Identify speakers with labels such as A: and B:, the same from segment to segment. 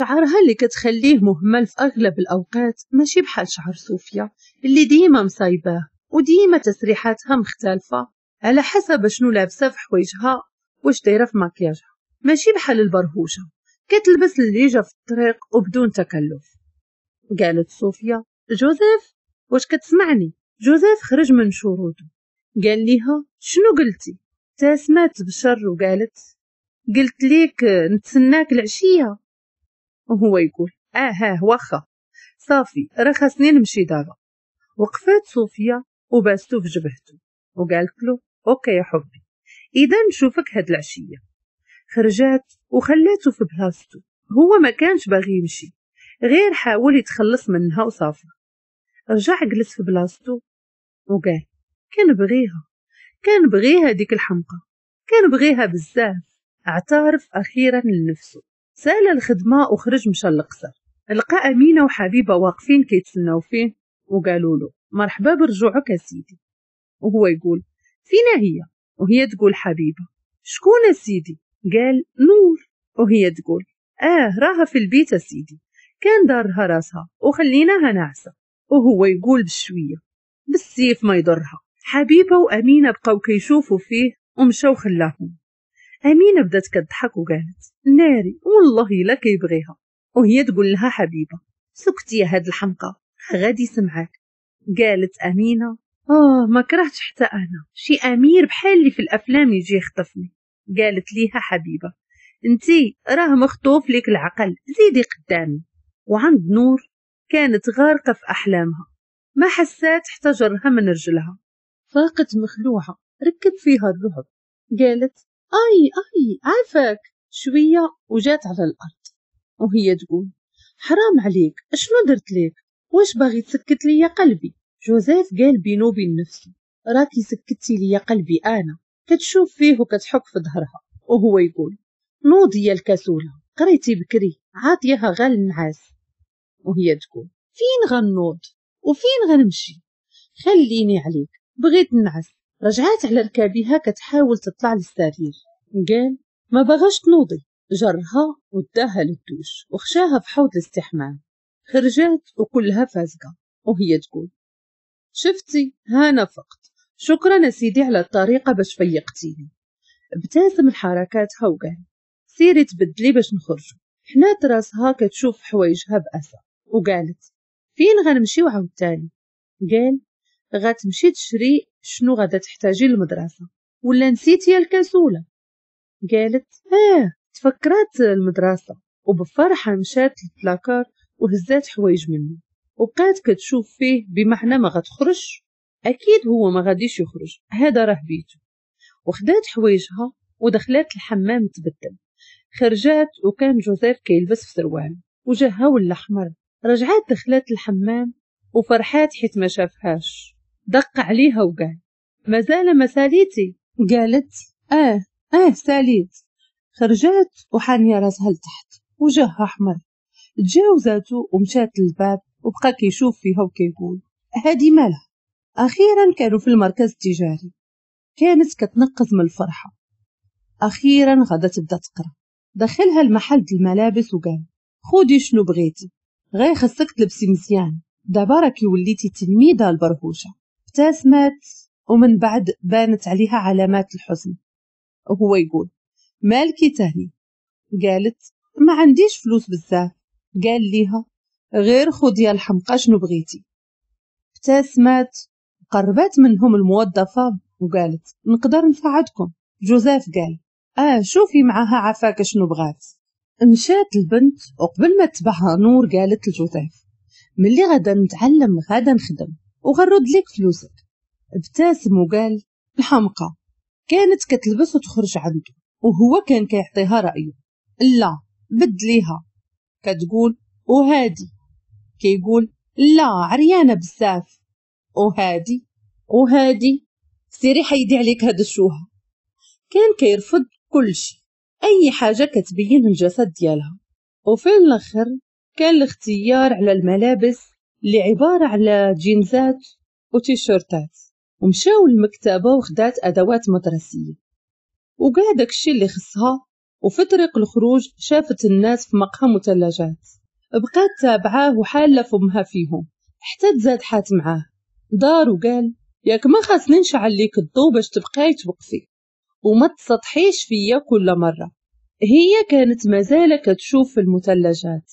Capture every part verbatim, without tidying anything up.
A: شعرها اللي كتخليه مهمل في أغلب الأوقات ماشي بحال شعر صوفيا اللي ديما مصايباه وديما تسريحاتها مختلفة على حسب شنو لابسة في حوايجها واش دايرة في ماكياجها، ماشي بحال البرهوشة كتلبس اللي جا في الطريق وبدون تكلف. قالت صوفيا جوزيف واش كتسمعني؟ جوزيف خرج من شروطه، قال ليها شنو قلتي؟ تسمات بشر وقالت قلت ليك نتسناك العشية. وهو يقول اه اه واخا صافي راه خاصني نمشي دابا. وقفات صوفيا وباستو في جبهته وقالت له OK يا حبي اذا نشوفك هاد العشية. خرجات وخلاته في بلاصتو، هو ما كانش باغي يمشي غير حاول يتخلص منها وصافي. رجع جلس في بلاصتو وقال كنبغيها كنبغيها ديك الحمقى كنبغيها بزاف. اعترف اخيرا لنفسه. سال الخدمة وخرج مشى للقصر، لقى امينه وحبيبه واقفين كيتسناو فيه وقالوا له مرحبا برجوعك يا سيدي. وهو يقول فينا هي؟ وهي تقول حبيبه شكون سيدي؟ قال نور. وهي تقول اه راها في البيت سيدي، كان دارها راسها وخليناها ناعسه. وهو يقول بشوية بالسيف ما يضرها. حبيبه وامينه بقاو كيشوفوا فيه ومشاو خلاهم. امينه بدات كتضحك وقالت ناري والله الا كيبغيها. وهي تقول لها حبيبه سكتي يا هاد الحمقى غادي يسمعك. قالت امينه اه ما كرهتش حتى انا شي امير بحال اللي في الافلام يجي يخطفني. قالت ليها حبيبه انتي راه مخطوف ليك العقل زيدي قدامي. وعند نور كانت غارقة في احلامها، ما حسات حتى جرها من رجلها. فاقت مخلوعه ركب فيها الرعب، قالت اي اي عافاك شوية وجات على الارض. وهي تقول حرام عليك اشنو درت ليك؟ واش باغي تسكت ليا قلبي؟ جوزيف قال بينو وبين نفسه راكي سكتي ليا قلبي انا. كتشوف فيه وكتحك في ظهرها وهو يقول نوضي يا الكسوله قريتي بكري عاطيها غال النعاس. وهي تقول فين غنوض وفين غنمشي؟ خليني عليك بغيت نعس. رجعات على ركابها كتحاول تطلع للسرير. قال ما بغاش تنوضي. جرها وداها للدوش وخشاها في حوض الاستحمام. خرجات وكلها فازقه وهي تقول شفتي هانا فقت، شكرا سيدي على الطريقة باش فيقتيني. ابتسم لحركاتها وقال سيري تبدلي باش نخرجوا. حنات راسها كتشوف حوايجها بأسى وقالت فين غنمشيو عاوتاني؟ قال غتمشي تشري شنو غادا تحتاجي للمدرسة ولا نسيتي يا الكسوله؟ قالت اه تفكرات المدرسة. وبفرحه مشات للبلاكار وهزات حوايج منه وبقات كتشوف فيه بمعنى ما غتخرج، اكيد هو ما غاديش يخرج هذا راه بيته. وخدات حوايجها ودخلات الحمام تبدل. خرجات وكان جوزيف كيلبس في سروال وجهها ولا احمر. رجعات دخلات الحمام وفرحات حيت ما شافهاش. دق عليها وقال مازال ما ساليتي؟ قالت اه اه ساليت. خرجات وحانيه راسها لتحت وجهها احمر. تجاوزاتو ومشات للباب وبقى كيشوف فيها وكيقول هادي مالها. اخيرا كانوا في المركز التجاري. كانت كتنقز من الفرحة. اخيرا غادا تبدا تقرا. دخلها المحل د الملابس وقال خودي شنو بغيتي غير خصك تلبسي مزيان دابا راكي وليتي تلميذه البرهوشه. ابتسمت ومن بعد بانت عليها علامات الحزن. وهو يقول مالكي تاني؟ قالت ما عنديش فلوس بزاف. قال ليها غير خدي يا الحمقى شنو بغيتي. ابتسمت وقربت منهم الموظفة وقالت نقدر نساعدكم؟ جوزيف قال اه شوفي معاها عفاك شنو بغات. مشات البنت وقبل ما تبعها نور قالت لجوزيف ملي غادا نتعلم غادا نخدم وغنرد لك فلوسك. ابتسم وقال الحمقى. كانت كتلبس وتخرج عنده وهو كان كيعطيها رأيه. لا بدليها، كتقول وهادي، كيقول لا عريانه بزاف، وهادي وهادي سيري حيدي عليك هاد الشوهه. كان كيرفض كل شيء اي حاجة كتبين الجسد ديالها. وفي الاخر كان الاختيار على الملابس اللي عبارة على جينزات وتيشيرتات. ومشاو للمكتبه وخدات ادوات مدرسيه وكاع داكشي اللي خصها وفي طريق الخروج شافت الناس في مقهى مثلجات، بقات تابعاه وحاله فمها فيهم حتى تزادحات معاه. دار وقال ياك ما خاصني نشعل ليك الضو باش تبقاي توقفي وما تسطحيش فيا كل مرة. هي كانت مازالة كتشوف في المثلجات.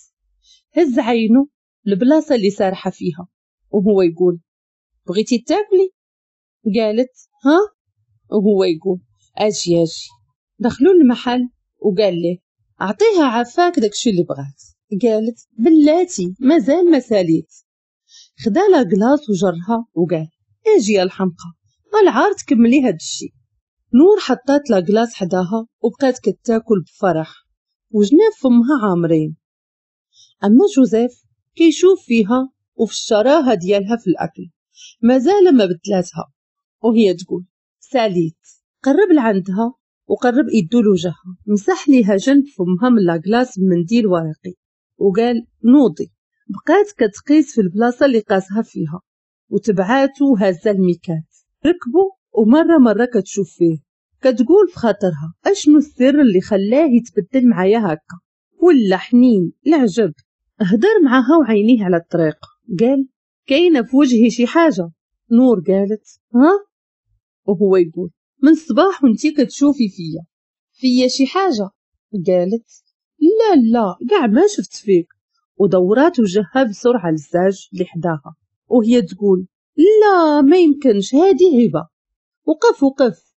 A: هز عينه البلاصة اللي سارحة فيها وهو يقول بغيتي تاكلي؟ قالت ها؟ وهو يقول اجي اجي. دخلوا المحل وقال ليه اعطيها عفاك داكشي اللي بغات. قالت بلاتي مازال ما ساليت. خدا la glace وجرها وقال اجي يا الحمقى العار تكملي هاد الشي. نور حطات la glace حداها وبقات كتاكل بفرح وجناب فمها عامرين. اما جوزيف كيشوف فيها وفي الشراهه ديالها في الاكل مازال ما بدلاتها، وهي تقول ساليت. قرب لعندها وقرب ايدو لوجهها، مسح ليها جنب فمها من la glace بمنديل ورقي وقال نوضي. بقات كتقيس في البلاصة اللي قاسها فيها وتبعاتو هازه الميكات. ركبوا ومرة مرة كتشوف فيه كتقول في خاطرها اشنو السر اللي خلاه يتبدل معايا هكا ولا حنين العجب. هدر معاها وعينيه على الطريق قال كاينه في وجهي شي حاجة. نور قالت ها؟ وهو يقول من الصباح وانتي كتشوفي فيا فيا شي حاجة. قالت لا لا كاع ما شفت فيك، ودورات وجهها بسرعة للزاج اللي حداها وهي تقول لا ما يمكنش هادي هبه. وقف وقف،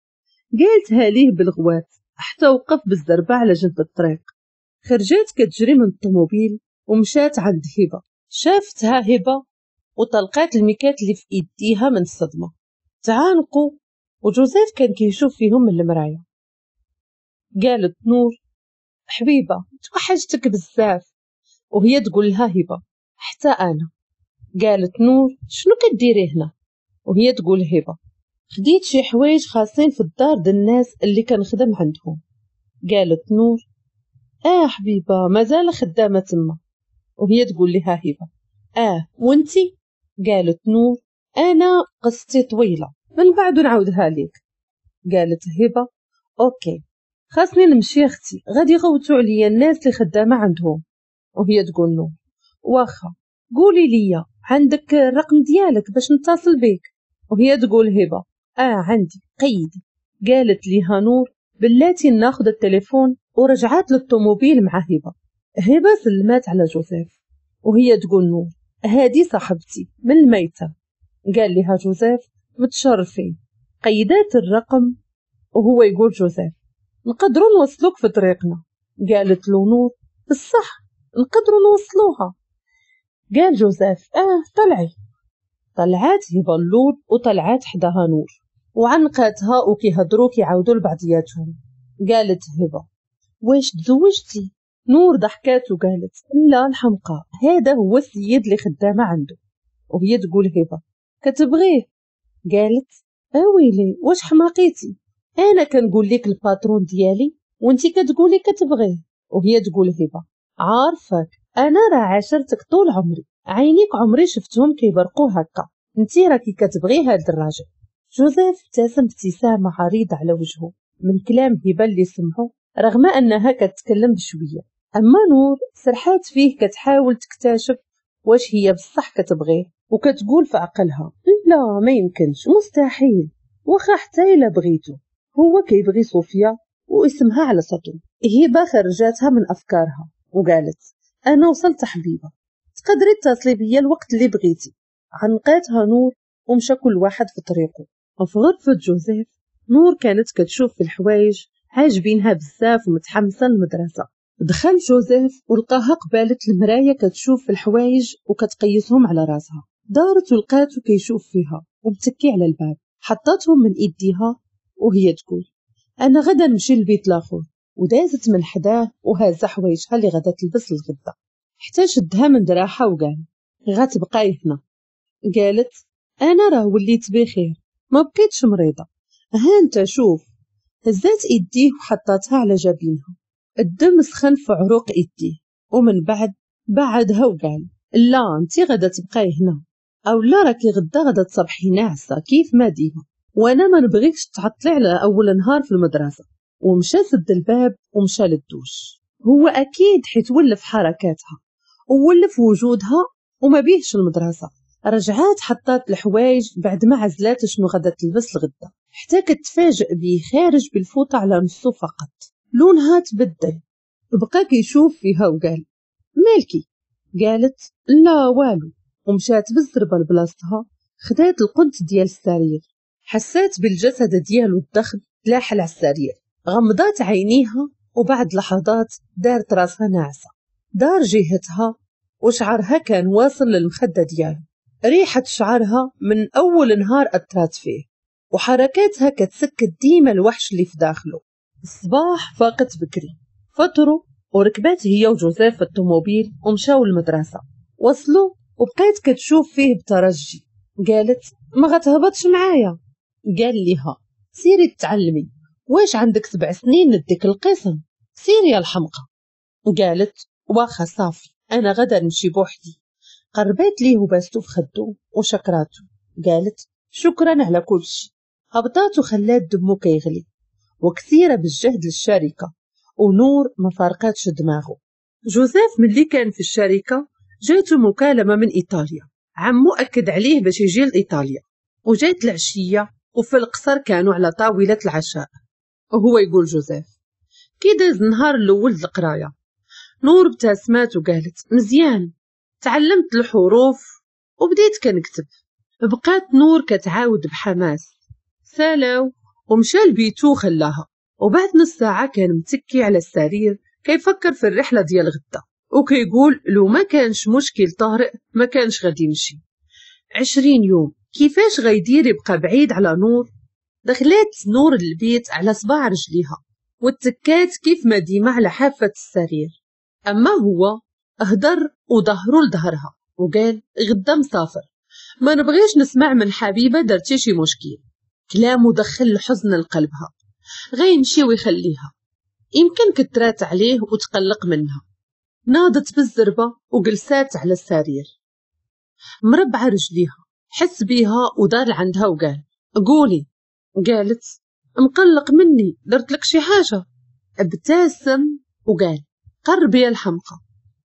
A: قالتها ليه بالغوات حتى وقف بالزربه على جنب الطريق. خرجات كتجري من الطوموبيل ومشات عند هبه. شافتها هبه وطلقات الميكات اللي في ايديها من الصدمة. تعانقوا وجوزيف كان كيشوف فيهم من المراية. قالت نور حبيبه توحشتك بزاف، وهي تقول لها هبه حتى انا. قالت نور شنو كديري هنا؟ وهي تقول هبه خديت شي حوايج خاصين في الدار د الناس اللي كنخدم عندهم. قالت نور اه حبيبه مازال خدامه تما. وهي تقول لها هبه اه وانتي؟ قالت نور انا قصتي طويلة من بعد نعاودها لك. قالت هبه OK خاصني نمشي اختي غادي يغوتوا عليا الناس اللي خدامه عندهم. وهي تقول نور واخا قولي لي عندك الرقم ديالك باش نتصل بك. وهي تقول هبه اه عندي قيدي. قالت ليها نور بلاتي ناخذ التليفون، ورجعت للطوموبيل مع هبه. هبه سلمات على جوزيف وهي تقول نور هادي صاحبتي من الميتة. قال لها جوزيف متشرفين. قيدات الرقم وهو يقول جوزيف نقدروا نوصلوك في طريقنا. قالت له نور بالصح نقدروا نوصلوها. قال جوزيف اه طلعي. طلعات هبه اللور وطلعات حداها نور وعنقاتها وكيهضروا كيعاودوا لبعضياتهم. قالت هبه واش تزوجتي؟ نور ضحكات وقالت لا الحمقى هذا هو السيد اللي خدامه عنده. وهي تقول هبه كتبغيه؟ قالت اويلي واش حماقيتي، انا كنقول لك ال patron ديالي وانتي كتقولي كتبغيه. وهي تقول هبه عارفك انا راه عاشرتك طول عمري، عينيك عمري شفتهم كيبرقوا هكا، انتي راكي كتبغي هاد الراجل. جوزيف ابتسم ابتسامة عريضة على وجهه من كلام هبه اللي سمعه رغم انها كتكلم بشوية. اما نور سرحات فيه كتحاول تكتشف واش هي بصح كتبغيه، وكتقول في عقلها لا ما يمكنش مستحيل، واخا حتى الا بغيتو هو كيبغي صوفيا واسمها على سطو. هبه خرجاتها من افكارها وقالت انا وصلت حبيبه تقدري تتصلي بيا الوقت اللي بغيتي. عنقاتها نور ومشى كل واحد في طريقه. وفي غرفة جوزيف نور كانت كتشوف في الحوايج عاجبينها بزاف ومتحمسه للمدرسة. دخل جوزيف ولقاها قبالة المراية كتشوف في الحوايج وكتقيسهم على راسها. دارت ولقاتو كيشوف فيها ومتكي على الباب. حطتهم من ايديها وهي تقول انا غدا نمشي للبيت الاخر، ودازت من حداه وهازه حوايجها اللي غدا تلبس الغدا. حتى شدها من دراعها وقال غتبقاي هنا. قالت انا راه وليت بخير ما بقيتش مريضه، ها انت شوف. هزات ايديه وحطتها على جبينها، الدم سخن في عروق ايديه. ومن بعد بعدها وقال لا انت غدا تبقاي هنا، او لا راكي غدا غدا تصبحي ناعسه كيف ما ديما، وانا ما نبغيكش تعطلي على اول نهار في المدرسة. ومشى سد الباب ومشى للدوش. هو أكيد حيت ولف حركاتها وولف وجودها وما بيهش المدرسة. رجعات حطات الحوايج بعد ما عزلات شنو غادا تلبس الغدا، حتى كتفاجئ بيه خارج بالفوطة على نصو فقط، لونها تبدل. بقى كيشوف فيها وقال مالكي؟ قالت لا والو، ومشات بالزربة لبلاصتها، خدات القنت ديال السرير. حسات بالجسد ديالو الضخم تلاحل على السرير، غمضات عينيها وبعد لحظات دارت راسها ناعسة. دار جهتها وشعرها كان واصل للمخدة ديالو، ريحة شعرها من أول نهار أثرت فيه، وحركاتها كتسكت ديما الوحش اللي في داخله. الصباح فاقت بكري، فطروا وركبات هي وجوزيف في الطوموبيل ومشاو للمدرسة. وصلوا وبقات كتشوف فيه بترجي، قالت ما غتهبطش معايا؟ قال لها سيري تعلمي، واش عندك سبع سنين نديك القسم؟ سيري يا الحمقى. قالت واخا صافي انا غدا نمشي بوحدي. قربات ليه وباستو في خدو وشكراتو، قالت شكرا على كل شيء. هبطات وخلات دمو كيغلي وكثيره بالجهد للشركة، ونور ما فارقاتش دماغه. جوزيف ملي كان في الشركة جاتو مكالمة من ايطاليا، عمو اكد عليه باش يجي لايطاليا. وجات العشية وفي القصر كانوا على طاولة العشاء، وهو يقول جوزيف كي داز النهار الاول د القراية؟ نور ابتسمات وقالت مزيان، تعلمت الحروف وبديت كنكتب. بقات نور كتعاود بحماس. سالاو ومشى لبيتو وخلاها. وبعد نص ساعة كان متكي على السرير كيفكر في الرحلة ديال غدا، وكيقول لو ما كانش مشكل طارئ ما كانش غادي يمشي. عشرين يوم كيفاش غيدير يبقى بعيد على نور؟ دخلات نور البيت على صباع رجليها واتكات كيف ما ديما على حافة السرير. أما هو هدر وظهرو لظهرها وقال غدا مسافر، ما نبغيش نسمع من حبيبة درتي شي مشكل. كلامه دخل الحزن لقلبها، غيمشي ويخليها، يمكن كترات عليه وتقلق منها. ناضت بالزربة وجلسات على السرير مربعة رجليها. حس بيها ودار عندها وقال قولي. قالت مقلق مني، درت لك شي حاجة؟ ابتسم وقال قربي يا الحمقى،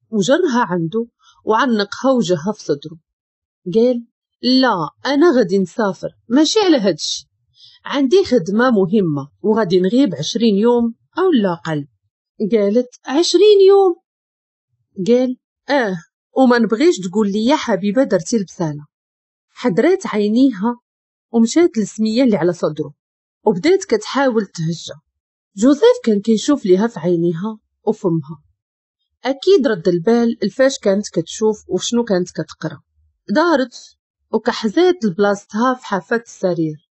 A: وجرها عنده وعنقها وجهها في صدره. قال لا أنا غادي نسافر، ماشي على هادشي، عندي خدمة مهمة وغادي نغيب عشرين يوم أو لا أقل. قالت عشرين يوم؟ قال آه، وما نبغيش تقول لي يا حبيبة درتي البسالة. حدرات عينيها ومشات للسمية اللي على صدره وبدات كتحاول تهجى. جوزيف كان كيشوف ليها في عينيها وفمها، أكيد رد البال الفاش كانت كتشوف وشنو كانت كتقرا. دارت وكحزات لبلاصتها في حافة السرير.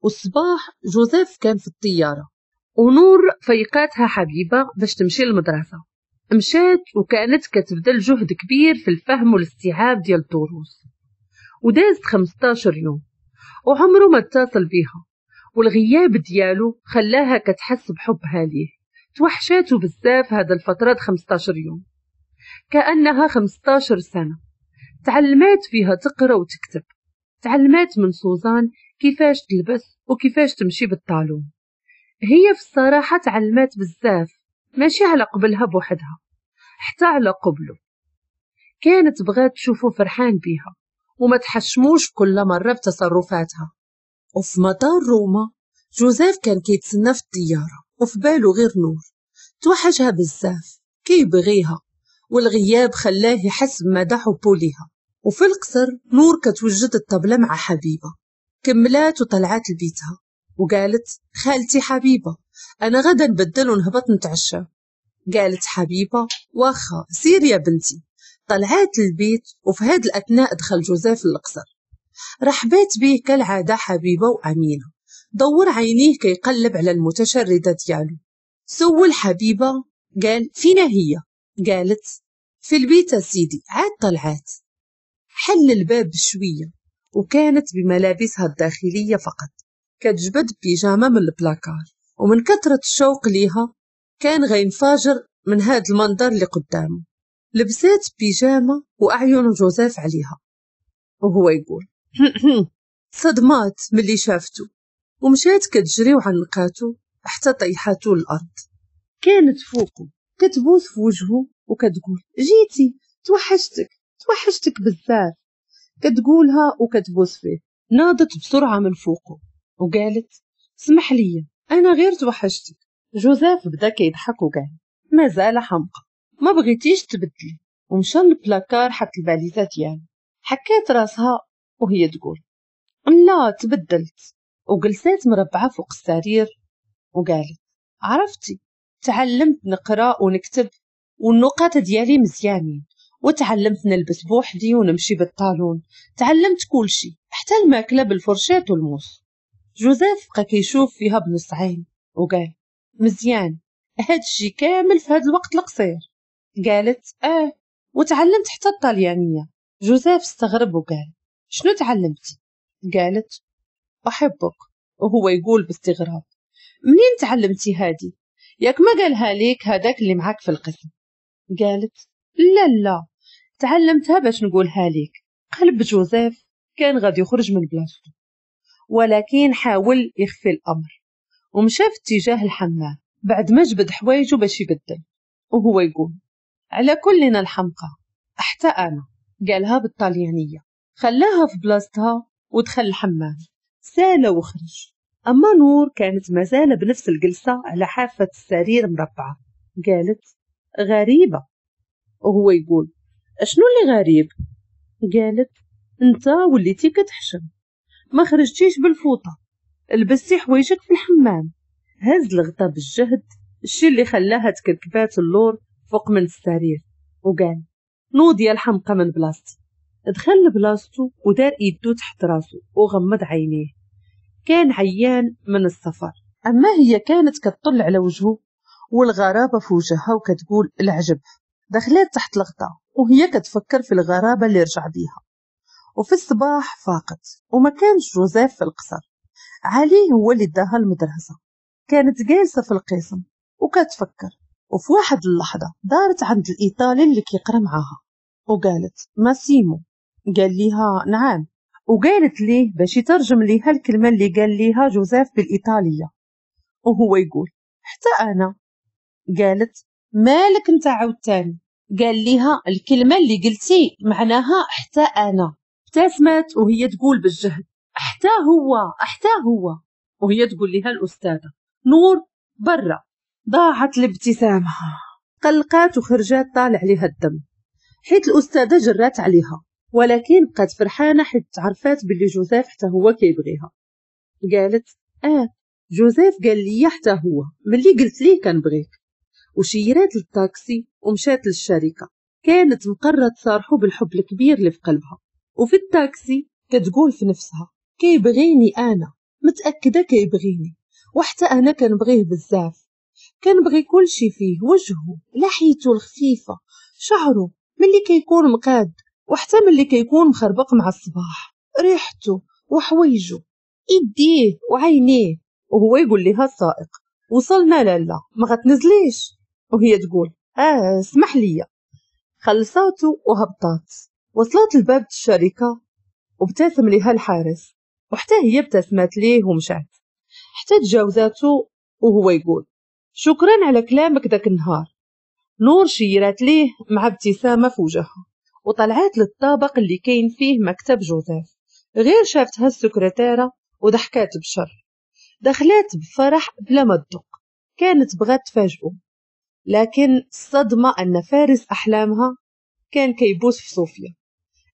A: والصباح جوزيف كان في الطيارة ونور فيقاتها حبيبة باش تمشي للمدرسة. مشات وكانت كتبذل جهد كبير في الفهم والاستيعاب ديال الدروس. ودازت خمسطاشر يوم وعمره ما اتصل بيها، والغياب ديالو خلاها كتحس بحبها ليه. توحشاتو بزاف هذا الفترة خمسطاشر يوم، كأنها خمسطاشر سنة. تعلمات فيها تقرأ وتكتب، تعلمات من سوزان كيفاش تلبس وكيفاش تمشي بال talon. هي في الصراحة تعلمات بزاف، ماشي على قبلها بوحدها، حتى على قبله. كانت بغات تشوفه فرحان بيها وما تحشموش كل مرة بتصرفاتها. وفي مطار روما جوزيف كان كيتسنى في الطيارة وفي باله غير نور، توحشها بزاف، كيبغيها، والغياب خلاه يحس بمدى حبه ليها. وفي القصر نور كتوجد الطبلة مع حبيبة. كملات وطلعات لبيتها وقالت خالتي حبيبة أنا غدا نبدل ونهبط نتعشى. قالت حبيبة واخا سير يا بنتي. طلعات للبيت وفي هاد الأثناء دخل جوزيف للقصر. رحبات به كالعادة حبيبة وأمينة. دور عينيه كيقلب على المتشردة ديالو. سول حبيبة قال فينا هي؟ قالت في البيت سيدي عاد طلعات. حل الباب بشوية وكانت بملابسها الداخلية فقط، كتجبد بيجامة من البلاكار، ومن كثرة الشوق ليها كان غينفجر من هاد المنظر اللي قدامه. لبسات بيجامة وأعين جوزيف عليها وهو يقول صدمات ملي شافته، ومشات كتجري وعنقاتو حتى طيحاتو الارض. كانت فوقه كتبوس في وجهه وكتقول جيتي، توحشتك توحشتك بزاف، كتقولها وكتبوس فيه. ناضت بسرعة من فوقه وقالت اسمح لي انا غير توحشتك. جوزيف بدا كيضحك وقال مازال حمقى، ما بغيتيش تبدلي. ومشى للبلاكار حط الباليزه ديالو. حكات راسها وهي تقول لا تبدلت، وجلسات مربعه فوق السرير وقالت عرفتي تعلمت نقرا ونكتب والنقاط ديالي مزيانين، وتعلمت نلبس بوحدي ونمشي بال talon، تعلمت كلشي حتى الماكلة بال fourchette والموس. جوزيف بقى كيشوف فيها بنص عين وقال مزيان هادشي كامل في هاد الوقت القصير. قالت اه وتعلمت حتى الطليانيه. جوزيف استغرب وقال شنو تعلمتي؟ قالت احبك. وهو يقول باستغراب منين تعلمتي هادي؟ ياك ما قالها ليك هذاك اللي معاك في القسم؟ قالت لا لا تعلمتها باش نقولها ليك. قلب جوزيف كان غادي يخرج من بلاصتو، ولكن حاول يخفي الامر ومشى في اتجاه الحمام بعد ما جبد حوايجو باش يبدل، وهو يقول على كلنا الحمقى حتى انا. قالها بالطليانيه، خلاها في بلاصتها ودخل الحمام سال وخرج. اما نور كانت مازال بنفس الجلسة على حافة السرير مربعه. قالت غريبة، وهو يقول اشنو اللي غريب؟ قالت انت وليتي كتحشم، ما خرجتيش بالفوطه، لبستي حوايجك في الحمام. هز الغطا بالجهد، الشي اللي خلاها تكركبات اللور فوق من السرير، وقال نوض يا الحمقى من بلاصتي. دخل لبلاصتو ودار ايدو تحت راسو وغمض عينيه، كان عيان من السفر. اما هي كانت كتطل على وجهه والغرابه في وجهها وكتقول العجب. دخلت تحت الغطا وهي كتفكر في الغرابة اللي رجع بيها. وفي الصباح فاقت وما كانش جوزيف في القصر، علي هو اللي داها المدرسة. كانت جالسة في القسم وكتفكر، وفي واحد اللحظة دارت عند الايطالي اللي كيقرا معاها وقالت ماسيمو. قال ليها نعم، وقالت ليه باش يترجم ليها الكلمة اللي قال ليها جوزيف بالايطاليه، وهو يقول حتى انا. قالت مالك انت عاوتاني؟ قال ليها الكلمة اللي قلتي معناها حتى انا. ابتسمت وهي تقول بالجهد حتى هو حتى هو، وهي تقول لها الاستاذة نور برا. ضاعت الابتسامة، قلقات وخرجات طالع لها الدم حيت الاستاذة جرات عليها، ولكن بقات فرحانة حيت تعرفات باللي جوزيف حتى هو كيبغيها. قالت اه جوزيف قال لي حتى هو ملي قلت ليه كنبغيك. وشيرات للطاكسي ومشات للشركة. كانت مقررة تصارحو بالحب الكبير اللي في قلبها. وفي الطاكسي كتقول في نفسها كيبغيني انا، متاكدة كيبغيني، وحتى انا كنبغيه بزاف، كنبغي كل شي فيه، وجهه، لحيته الخفيفة، شعره ملي كيكون مقاد وحتى ملي كيكون مخربق مع الصباح، ريحته وحويجه، يديه وعينيه. وهو يقول لها السائق وصلنا لالا ما غتنزليش، وهي تقول اه اسمح لي. خلصاتو وهبطات، وصلت لباب الشركة وابتسم لها الحارس، وحتى هي ابتسمت ليه ومشات حتى تجاوزاتو، وهو يقول شكرا على كلامك داك النهار. نور شيرات ليه مع ابتسامة في وجهها وطلعت للطابق اللي كاين فيه مكتب جوزيف. غير شافتها السكرتيرة وضحكات بشر، دخلات بفرح بلا ما تدق، كانت بغات تفاجئه، لكن الصدمة أن فارس أحلامها كان كيبوس في صوفيا.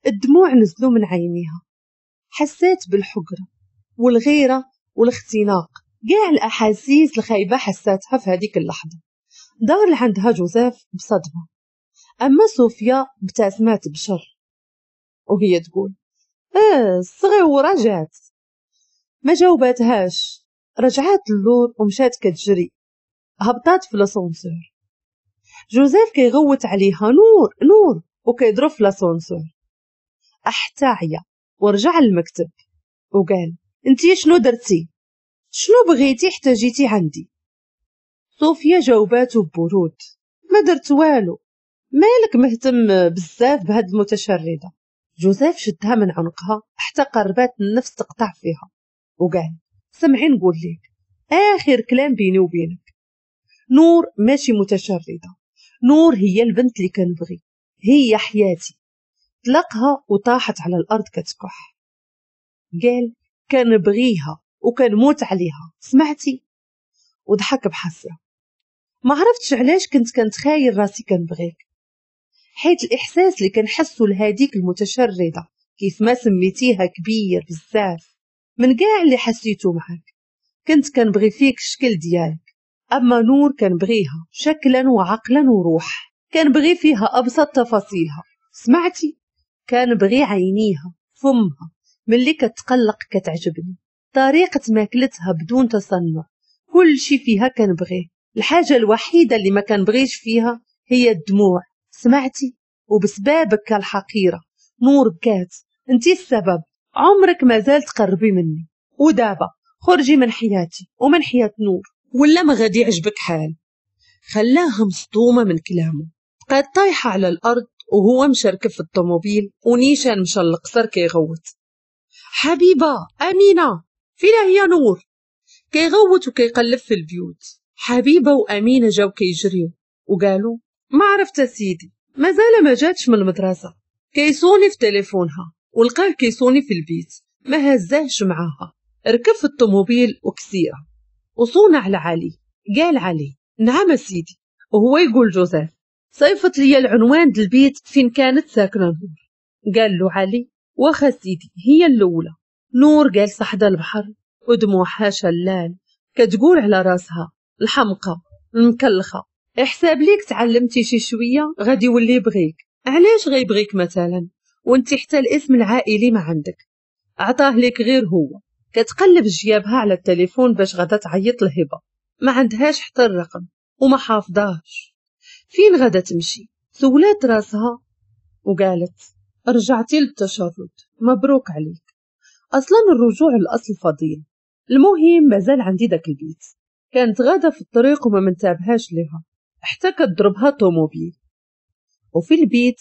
A: الدموع نزلوا من عينيها، حسيت بالحقرة والغيرة والاختناق، كاع الأحاسيس الخايبة حساتها في هذيك اللحظة. دار لعندها جوزيف بصدمة، أما صوفيا ابتسمت بشر وهي تقول اه الصغيورة جات. ما جاوباتهاش، رجعات اللور ومشات كتجري، هبطات في l'ascenseur. جوزيف كيغوت عليها نور نور وكيضرب في l'ascenseur حتى عيا ورجع للمكتب وقال انتي شنو درتي؟ شنو بغيتي حتى جيتي عندي؟ صوفيا جاوباتو ببرود ما درت والو، مالك مهتم بزاف بهاد المتشردة؟ جوزيف شدها من عنقها حتى قربات النفس تقطع فيها وقال سمعي نقول لك آخر كلام بيني وبينك. نور ماشي متشردة، نور هي البنت اللي كنبغي، هي حياتي. طلقها وطاحت على الأرض كتكح. قال كنبغيها وكنموت عليها، سمعتي؟ وضحك بحسرة. ما عرفتش علاش كنت كنتخايل راسي كنبغيك، حيت الإحساس اللي كنحسو لهاديك المتشردة كيف ما سميتيها كبير بزاف من كاع اللي حسيتو معاك. كنت كنبغي فيك الشكل ديالك، أما نور كنبغيها شكلا وعقلا وروح، كنبغي فيها أبسط تفاصيلها، سمعتي؟ كنبغي عينيها، فمها ملي كتقلق كتعجبني، طريقة ماكلتها بدون تصنع، كل شي فيها كنبغيه. الحاجة الوحيدة اللي ما كنبغيش فيها هي الدموع، سمعتي؟ وبسبابك الحقيرة نور بكات، انتي السبب، عمرك ما زال تقربي مني، ودابا خرجي من حياتي ومن حياة نور ولا ما غادي يعجبك حال. خلاها مصدومة من كلامه، بقات طايحة على الأرض وهو مشركب في الطوموبيل ونيشان مشى للقصر كيغوت، حبيبة أمينة فين هي نور؟ كيغوت وكيقلب في البيوت. حبيبة وأمينة جاو كيجريو وقالوا ما عرفت سيدي، مازال ما جاتش من المدرسة. كيصوني في تليفونها ولقاه كيصوني في البيت، ما هزاهش معاها. ركب في الطوموبيل وكسيرة وصونا على علي. قال علي نعم سيدي، وهو يقول جوزيف صيفط لي العنوان د البيت فين كانت ساكنة نور. قال له علي واخا سيدي هي الأولى. نور جالسة حدا البحر ودموعها شلال، كتقول على راسها الحمقى المكلخة، احساب ليك تعلمتي شي شوية غادي يولي يبغيك، علاش غيبغيك مثلا وانت حتى الاسم العائلي ما عندك، عطاه لك غير هو. كتقلب جيابها على التليفون باش غادا تعيط لهبة، ما عندهاش حتى الرقم وما حافظاهش. فين غادا تمشي؟ سولات راسها وقالت رجعتي للتشرد، مبروك عليك، اصلا الرجوع للاصل فضيل، المهم مازال عندي داك البيت. كانت غادا في الطريق وما منتبهاش لها حتى كتضربها طوموبيل. وفي البيت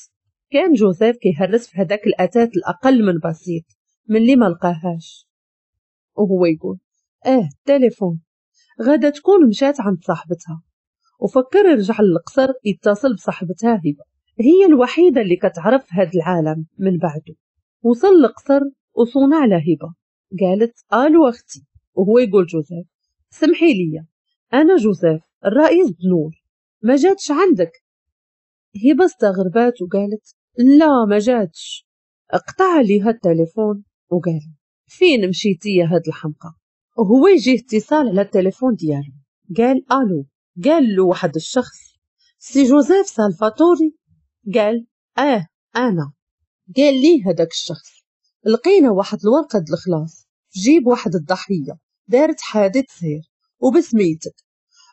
A: كان جوزيف كيهرس في هداك الأثاث الأقل من بسيط من اللي ما لقاهاش، وهو يقول اه التليفون غادا تكون مشات عند صاحبتها. وفكر يرجع للقصر يتصل بصاحبتها هبة، هي الوحيدة اللي كتعرف هاد العالم من بعده. وصل للقصر وصونا على هبة، قالت الو اختي، وهو يقول جوزيف سمحي لي انا جوزيف الرئيس بنور، ما جاتش عندك؟ هبة استغربات وقالت لا ما جاتش. اقطع عليها التليفون وقال فين مشيتي يا هاد الحمقى؟ وهو يجيه اتصال على التليفون ديالو، قال الو. قال له واحد الشخص سي جوزيف سالفاتوري؟ قال اه انا. قال لي هداك الشخص لقينا واحد الورقة د الخلاص في جيب واحد الضحية دارت حادث سير وبسميتك،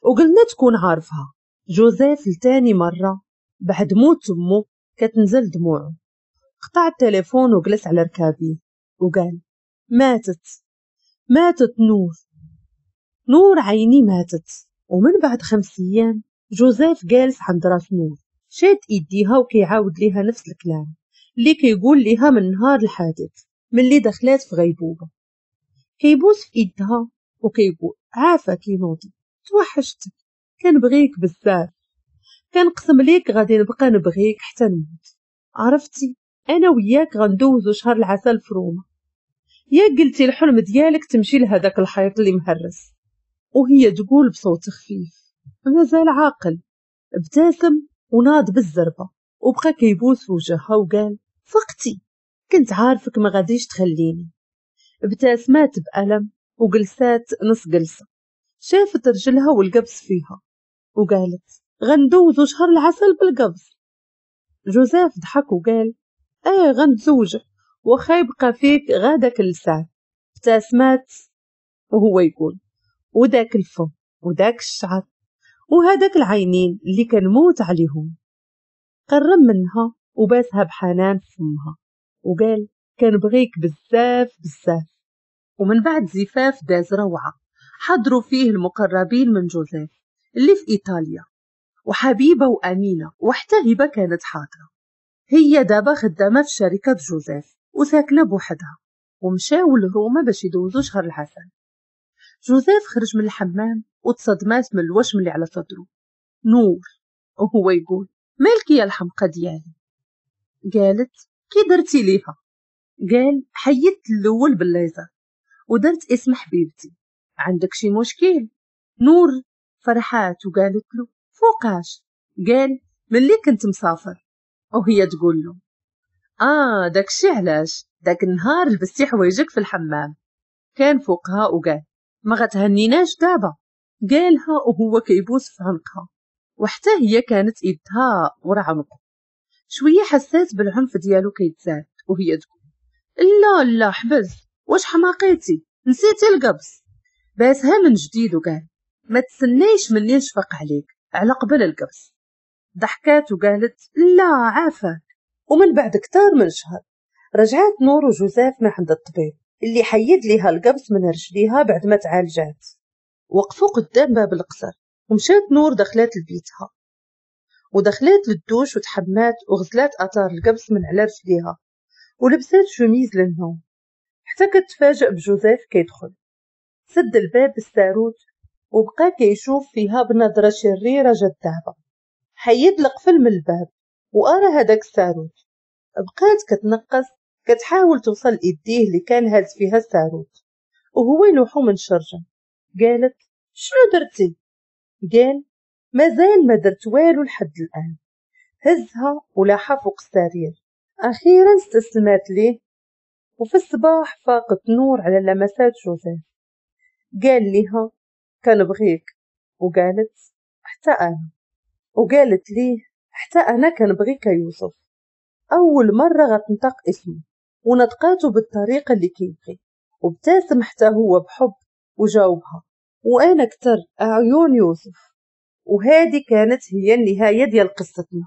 A: وقلنا تكون عارفها. جوزيف لتاني مرة بعد موت امه كتنزل دموعه، قطع التليفون وجلس على ركابيه وقال ماتت، ماتت نور، نور عيني ماتت. ومن بعد خمس ايام جوزيف جالس عند راس نور، شاد ايديها وكيعاود ليها نفس الكلام اللي كيقول ليها من نهار الحادث ملي دخلات في غيبوبة. كيبوس في ايدها وكيقول عافاك نوضي، توحشتك، كنبغيك بزاف، كنقسم ليك غادي نبقى نبغيك حتى نموت، عرفتي انا وياك غندوزو شهر العسل في روما، يا قلتي الحلم ديالك تمشي لهداك الحيط اللي مهرس. وهي تقول بصوت خفيف مازال عاقل. ابتسم وناض بالزربه وبقى كيبوس في وجهها وقال فقتي، كنت عارفك ما غاديش تخليني. ابتسمات بألم وجلسات نص جلسه، شافت رجلها والقبس فيها وقالت غندوزو شهر العسل بالقبس. جوزيف ضحك وقال ايه غنتزوجك واخا يبقى فيك غاداك اللسان. ابتسمات وهو يقول وداك الفم وداك الشعر وهداك العينين اللي كنموت عليهم. قرب منها وباسها بحنان في فمها وقال كنبغيك بزاف بزاف. ومن بعد زفاف داز روعة حضروا فيه المقربين من جوزيف اللي في إيطاليا، وحبيبة وأمينة وحتى هبة كانت حاضرة. هي دابا خدامة في شركة جوزيف وساكنة بوحدها، ومشاو لروما باش يدوزو شهر العسل. جوزيف خرج من الحمام وتصدمات من الوشم اللي على صدره. نور وهو يقول مالك يا الحمقى ديالي؟ قالت كي درتي ليها؟ قال حيدت الاول بالليزر ودرت اسم حبيبتي، عندك شي مشكل؟ نور فرحات وقالت له فوقاش؟ قال ملي كنت مسافر. وهي تقول له اه داكشي علاش داك النهار لبستي حوايجك في الحمام. كان فوقها وقال ما غتهنيناش دابا. قالها وهو كيبوس في عنقها، وحتى هي كانت ايدها ورا عنقه. شوية حسات بالعنف ديالو كيتزاد وهي تقول لا لا حبس، واش حماقيتي؟ نسيتي القبص. باسها من جديد وقال ما تسنيش مني نشفق عليك على قبل القبص. ضحكات وقالت لا عافاك. ومن بعد كتار من شهر رجعت نور وجوزيف من عند الطبيب اللي حيد ليها القبص من رجليها بعد ما تعالجات. وقفوا قدام باب القصر ومشات نور دخلات لبيتها ودخلات للدوش وتحمات وغسلات اثار القبص من على رجليها ولبسات شوميز للنوم، حتى كتفاجئ بجوزيف كيدخل. سد الباب بالساروت وبقى كيشوف فيها بنظرة شريرة جذابة. حيد القفل من الباب وأرى هداك الساروت. بقات كتنقص كتحاول توصل لإيديه اللي كان هاز فيها الساروت وهو يلوحو من شرجة. قالت شنو درتي؟ قال مازال ما درت والو لحد الآن. هزها ولاحها فوق السرير. أخيرا استسلمت ليه. وفي الصباح فاقت نور على لمسات جوزيف. قال لها كنبغيك، وقالت حتى أنا، وقالت ليه حتى أنا كنبغيك يا يوسف. أول مرة غتنطق اسمه ونطقاته بالطريقة اللي كيبغي، وابتسم حتى هو بحب وجاوبها وأنا كتر أعيون يوسف. وهذه كانت هي النهاية ديال قصتنا.